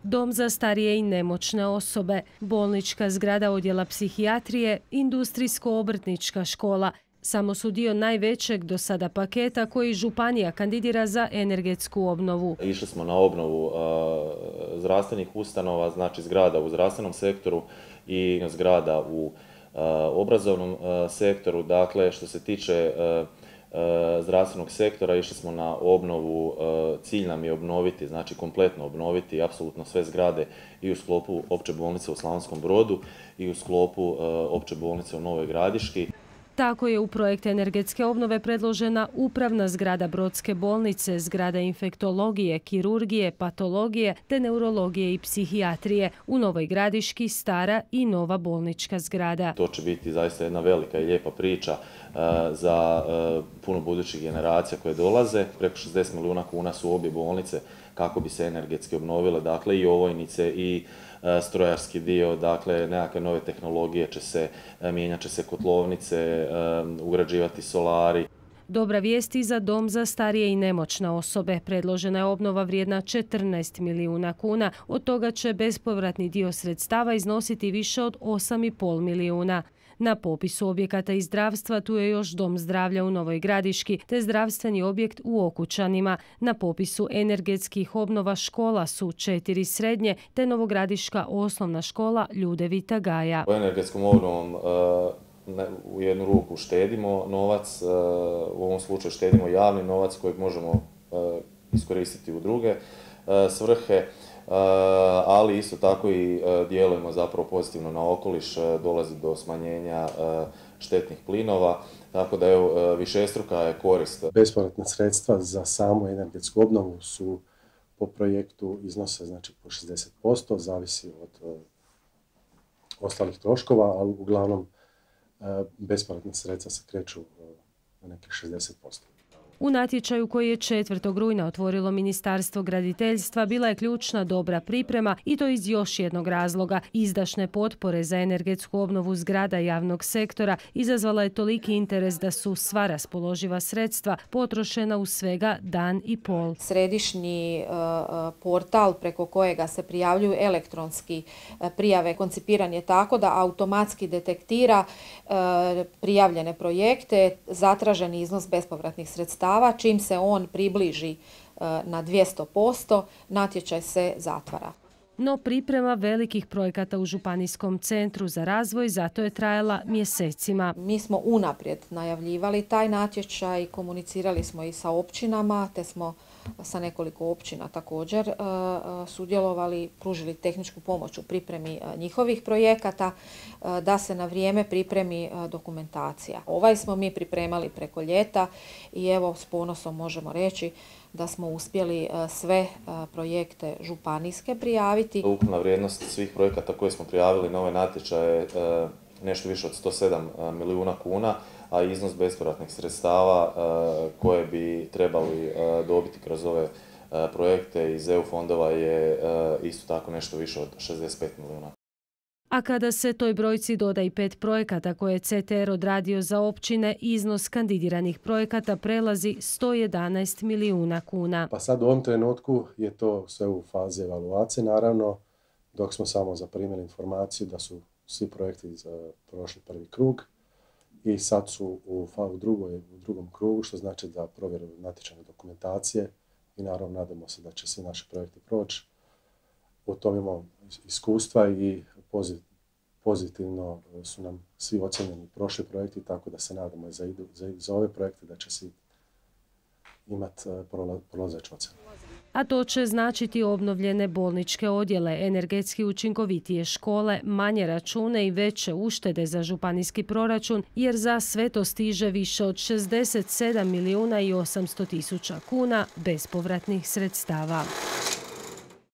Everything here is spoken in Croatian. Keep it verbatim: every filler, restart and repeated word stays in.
Dom za starije i nemoćne osobe, bolnička zgrada odjela psihijatrije, industrijsko-obrtnička škola. Samo su dio najvećeg do sada paketa koji županija kandidira za energetsku obnovu. Išli smo na obnovu zdravstvenih ustanova, znači zgrada u zdravstvenom sektoru i zgrada u obrazovnom sektoru. Dakle, što se tiče zdravstvenog sektora, išli smo na obnovu, cilj nam je obnoviti, znači kompletno obnoviti apsolutno sve zgrade i u sklopu opće bolnice u Slavonskom Brodu i u sklopu opće bolnice u Novoj Gradiški. Tako je u projekt energetske obnove predložena upravna zgrada Brodske bolnice, zgrada infektologije, kirurgije, patologije te neurologije i psihijatrije. U Novoj Gradiški stara i nova bolnička zgrada. To će biti zaista jedna velika i lijepa priča za puno budućih generacija koje dolaze. Preko šezdeset milijuna kuna su obje bolnice kako bi se energetski obnovile, dakle i ovojnice i strojarski dio, dakle nekakve nove tehnologije će se, mijenjat će se kotlovnice, ugrađivati solari. Dobra vijest i za dom za starije i nemoćne osobe. Predložena je obnova vrijedna četrnaest milijuna kuna, od toga će bespovratni dio sredstava iznositi više od osam i pol milijuna. Na popisu objekata iz zdravstva tu je još Dom zdravlja u Novoj Gradiški te zdravstveni objekt u Okučanima. Na popisu energetskih obnova škola su četiri srednje te Novogradiška osnovna škola Ljudevita Gaja. U energetskom obnovom u jednu ruku štedimo novac, u ovom slučaju štedimo javni novac kojeg možemo iskoristiti u druge svrhe, ali isto tako i djelujemo zapravo pozitivno na okoliš, dolazi do smanjenja štetnih plinova, tako da evo, višestruka je korist. Bespovratna sredstva za samu energetsku obnovu su po projektu iznose znači po šezdeset posto, zavisi od ostalih troškova, ali uglavnom bespovratna sredstva se kreću na nekih šezdeset posto. U natječaju koji je četvrtog rujna otvorilo Ministarstvo graditeljstva bila je ključna dobra priprema i to iz još jednog razloga. Izdašne potpore za energetsku obnovu zgrada javnog sektora izazvala je toliki interes da su sva raspoloživa sredstva potrošena u svega dan i pol. Središnji portal preko kojega se prijavljuju elektronski prijave koncipiran je tako da automatski detektira prijavljene projekte, zatraženi iznos bespovratnih sredstava. Čim se on približi na dvjesto posto, natječaj se zatvara. No priprema velikih projekata u Županijskom centru za razvoj zato je trajala mjesecima. Mi smo unaprijed najavljivali taj natječaj, komunicirali smo i sa općinama, te smo sa nekoliko općina također sudjelovali, pružili tehničku pomoć u pripremi njihovih projekata, da se na vrijeme pripremi dokumentacija. Ovaj smo mi pripremali preko ljeta i evo s ponosom možemo reći da smo uspjeli sve projekte županijske prijaviti. Ukupna vrijednost svih projekata koje smo prijavili na ovaj natječaj je nešto više od sto sedam milijuna kuna, a iznos bespovratnih sredstava koje bi trebali dobiti kroz ove projekte iz E U fondova je isto tako nešto više od šezdeset pet milijuna. A kada se toj brojci doda i pet projekata koje je C T R odradio za općine, iznos kandidiranih projekata prelazi sto jedanaest milijuna kuna. Pa sad u ovom trenutku je to sve u fazi evaluacije, naravno, dok smo samo zaprimili informaciju da su svi projekti prošli prvi krug i sad su u, u, drugoj, u drugom krugu, što znači da provjeruju natječajne dokumentacije i naravno nadamo se da će svi naši projekti proći. U tom imamo iskustva i pozitivno su nam svi ocjenjeni prošli projekti, tako da se nadamo za, za, za ove projekte da će svi imati prolazeću ocjenu. A to će značiti obnovljene bolničke odjele, energetski učinkovitije škole, manje račune i veće uštede za županijski proračun, jer za sve to stiže više od šezdeset sedam milijuna i osamsto tisuća kuna bespovratnih sredstava.